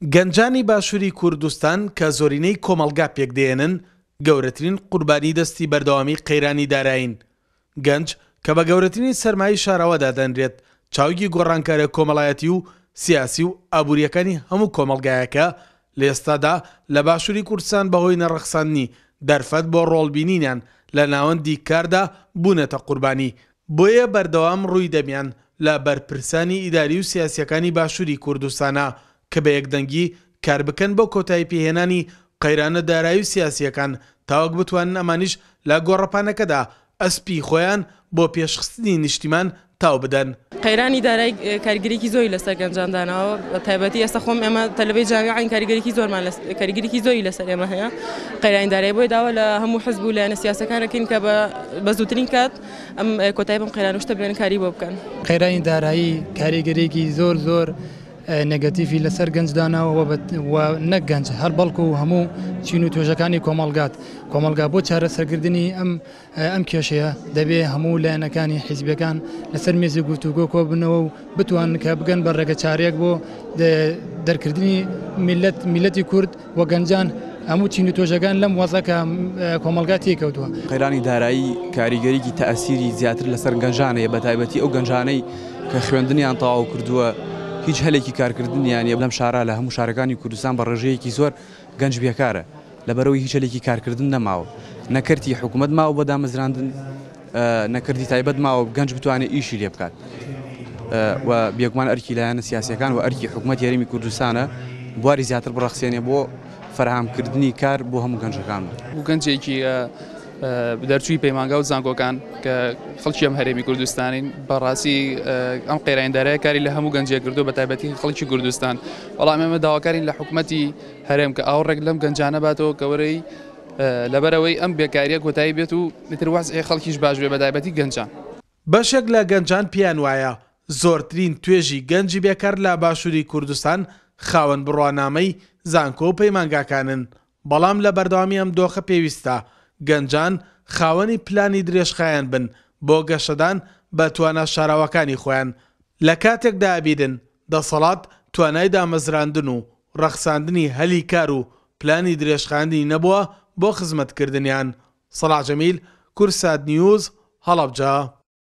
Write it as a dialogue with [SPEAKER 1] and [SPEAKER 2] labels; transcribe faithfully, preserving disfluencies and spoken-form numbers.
[SPEAKER 1] گەنجانی باشووری کوردستان کە زۆرینەی کۆمەڵگا پێکدێنن، گەورەترین قوربانی دەستی بەردەوامی قەیرانی دارایین. گەنج کە بە گەورەترین سەرمایەی شاراوە دادەنرێت، چاوگی گۆڕانکاریە کۆمەڵایەتی و سیاسی و ئابووریەکانی هەموو کۆمەڵگایەکە، لە ئێستادا لە باشووری کوردستان بەهۆی نەڕەخساندنی دەرفەت بۆ ڕۆڵبینینیان لە ناوەندی کاردا بوونەتە قوربانی. بۆیە بەردەوام ڕووی دەمیان لە بەرپرسانی ئیداری و سیاسیەکانی باشووری کوردستانە کە بە یەکدەنگی کار بکەن بۆ کۆتایی پێهێنانی قەیرانە دارایی و سیاسیەکان، تاوەک بتوانن ئەمانیش لە گۆڕەپانەکەدا ئەسپی خۆیان بۆ پێشخستنی نیشتیمان تاو بدەن.
[SPEAKER 2] قەیرانی دارایی کاریگەریی زۆری لەسەر گەنجان داناوە، بە تایبەتی ئێستا خۆم ئێمە تەلەبەی جامیعین، کاریگەریی زۆرمان کاریگەریی زۆری لەسەر ئێمە هەیە قەیرانی دارایی. بۆیە داوا لە هەموو حزب و لایەنە سیاسەکان ئەکەین کە بە زووترین کات ئەم کۆتایی بەم قەیران و شتە بێنن، کاری بۆ بکەن.
[SPEAKER 3] قەیرانی دارایی کاریگەریی زۆر زۆر نێگەتیڤی لەسەر گەنج داناوە و نەک گەنج هەر بەڵکو هەموو چین و توێژەکانی کۆمەڵگات کۆمەڵگا. بۆ چارەسەرکردنی ئەم ئەم کێشەیە دەبێ هەموو لایەنەکانی حیزبەکان لەسەر مێزی گفتوگۆ کۆبنەوە و بتوانن کە بگەن بە ڕێگەچارەیەک بۆ دەرکردنی میلەت میلەتی کورد و گەنجان، هەموو چین و توێژەکان لەم وەزعە کە کۆمەڵگا تێکەوتووە.
[SPEAKER 4] قەیرانی دارایی کاریگەریی تەئەسیری زیاتر لەسەر گەنجانەیە، بە تایبەتی ئەو گەنجانەی کە خوێندنیان تەواو کردووە، هیچ هەلێکی کارکردنیان نییە. لەم شارە، لە هەموو شارەکانی کوردستان بە ڕێژەیەکی زۆر گەنج بێکارە، لەبەرەوەی هیچ هەلێکی کارکردن نەماوە، نەکردی حکوومەت ماوە بۆ دامەزراندن، نەکردی تایبەت ماوە گەنج بتوانێت ئیشی لێ بکات. و بێگومان ئەرکی لایەنە سیاسیەکان و ئەرکی حکوومەت هەرێمی کوردستانە بواری زیاتر بڕەخسێنێ بۆ فەرهامکردنی کار بۆ هەموو گەنجەکان.
[SPEAKER 5] بۆ گەنجێکی دەرچووی پەیمانگا و زانکۆکان کە خەڵکی ئەم هەرێمی کوردستانین، بەڕاستی ئەم قەیرانی دارایە کاری لە هەموو گەنجێک کردو، بە تایبەتی خەڵکی کوردستان. بەڵام ئێمە داواکارین لە حکوومەتی هەرێم کە ئاوڕێک لەم گەنجانە باتەوە کەوەرەی لەبەرەوەی ئەم بێکاریە کۆتایی بێت و ئیتر وەزعی خەڵکیش باش بێ، بە تایبەتی گەنجان.
[SPEAKER 1] بەشێک لە گەنجان پێیان وایە زۆرترین توێژی گەنجی بێکار لە باشووری کوردستان خاوەن بڕوانامەی زانکۆ و پەیمانگاکانن، بەڵام لە بەردەوامی ئەم دۆخە پێویستە گەنجان خاوەنی پلانی درێژخایەن بن بۆ گەشەدان بە توانا شاراوەکانی خۆیان، لە کاتێکدا ئەبینن دەسەڵات توانای دامەزراندن و ڕەخساندنی هەلی کار و پلانی درێژخایەنی نەبووە بۆ خزمەتکردنیان. سەڵاح جەمیل، کوردسات نیوز، هەڵەبجە.